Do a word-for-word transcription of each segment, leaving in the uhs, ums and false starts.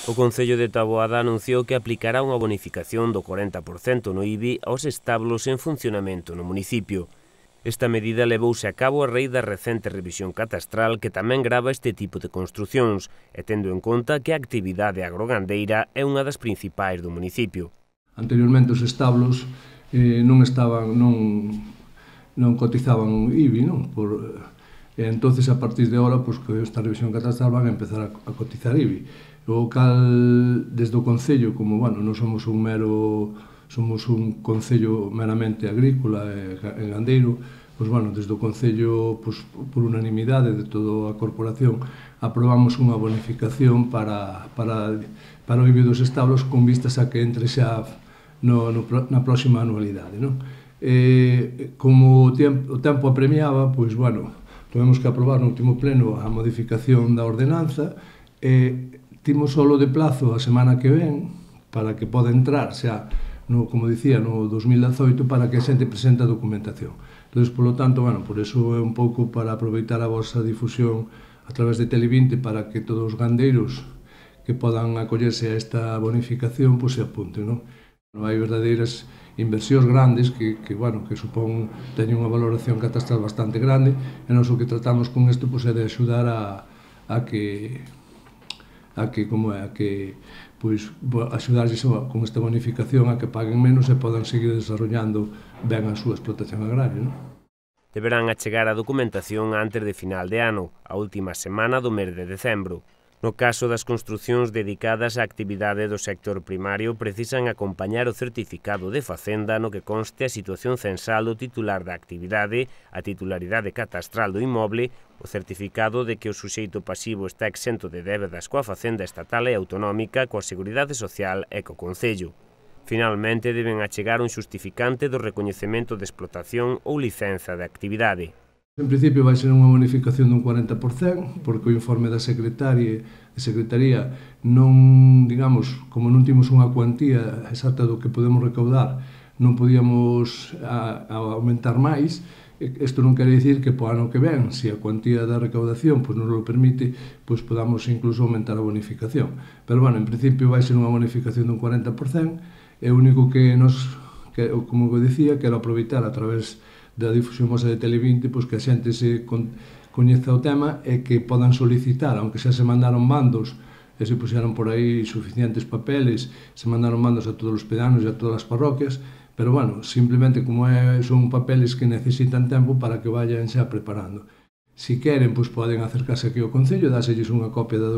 O Concello de Taboada anunciou que aplicará unha bonificación do corenta por cento no I B I aos establos en funcionamento no municipio. Esta medida levouse a cabo a raíz da recente revisión catastral que tamén grava este tipo de construcións, e tendo en conta que a actividade agrogandeira é unha das principais do municipio. Anteriormente os establos eh, non estaban, non, non cotizaban I B I, non? Por, e entonces a partir de ahora, pois, que esta revisión catastral van a empezar a, a cotizar I B I. O cal, desde o Concello, como, bueno, non somos un mero, somos un Concello meramente agrícola e, e gandeiro, pois, bueno, desde o Concello, pois, por unanimidade de toda a corporación, aprobamos unha bonificación para, para, para o I B I dos establos con vistas a que entre xa no, no, na próxima anualidade, non? E, como o tempo, o tempo apremiaba, pois, bueno, tivemos que aprobar no último pleno a modificación da ordenanza e timos solo de plazo a semana que ven para que poda entrar xa, no, como dicía, no dos mil dezoito para que a xente presente a documentación. Entón, polo tanto, bueno, por eso é un pouco para aproveitar a vosa difusión a través de Televinte para que todos os gandeiros que podan acollerse a esta bonificación, pois se apunten, non? Non hai verdadeiras inversións grandes que, que, bueno, que supón, teñen unha valoración catastral bastante grande e nós o que tratamos con isto pois, é de axudar a, a que a que, como é, a que pois, axudarlles con esta bonificación a que paguen menos e podan seguir desarrollando ben a súa explotación agraria, non? Deberán achegar a documentación antes de final de ano, a última semana do mes de decembro. No caso das construcións dedicadas á actividade do sector primario, precisan acompañar o certificado de Facenda no que conste a situación censal do titular da actividade, a titularidade catastral do inmoble, o certificado de que o suxeito pasivo está exento de débedas coa Facenda estatal e autonómica, coa Seguridade Social e co Concello. Finalmente, deben achegar un xustificante do recoñecemento de explotación ou licenza de actividade. En principio vai ser unha bonificación dun corenta por cento, porque o informe da Secretaría, de Secretaría non, digamos, como non timos unha cuantía exacta do que podemos recaudar, non podíamos a, a aumentar máis. Isto non quere dicir que po ano que ven, se a cuantía da recaudación pois, non o permite, pois podamos incluso aumentar a bonificación. Pero, bueno, en principio vai ser unha bonificación dun corenta por cento, e o único que nos, que, como eu dicía, quero aproveitar a través da difusión vosa de Televinte, pois que a xente se con, coñeza o tema e que podan solicitar, aunque xa se mandaron bandos e se puxeron por aí suficientes papeles, se mandaron bandos a todos os pedanos e a todas as parroquias, pero, bueno, simplemente como é, son papeles que necesitan tempo para que vayan xa preparando. Si queren, pois poden acercarse aquí ao Concello, dáselles unha copia da,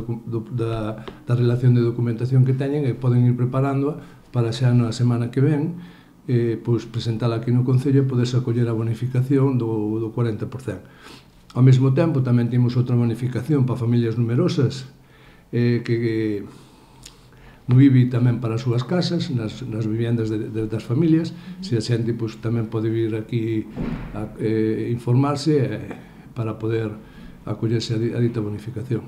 da, da relación de documentación que teñen e poden ir preparándoa para xa na semana que ven, eh, pois presentala aquí no Concello e poderse acoller a bonificación do, do corenta por cento. Ao mesmo tempo, tamén temos outra bonificación para familias numerosas, eh, que, que no I B I tamén para as súas casas, nas, nas viviendas de, de, das familias, se a xente pois, tamén pode vir aquí a eh, informarse eh, para poder acollerse a, a dita bonificación.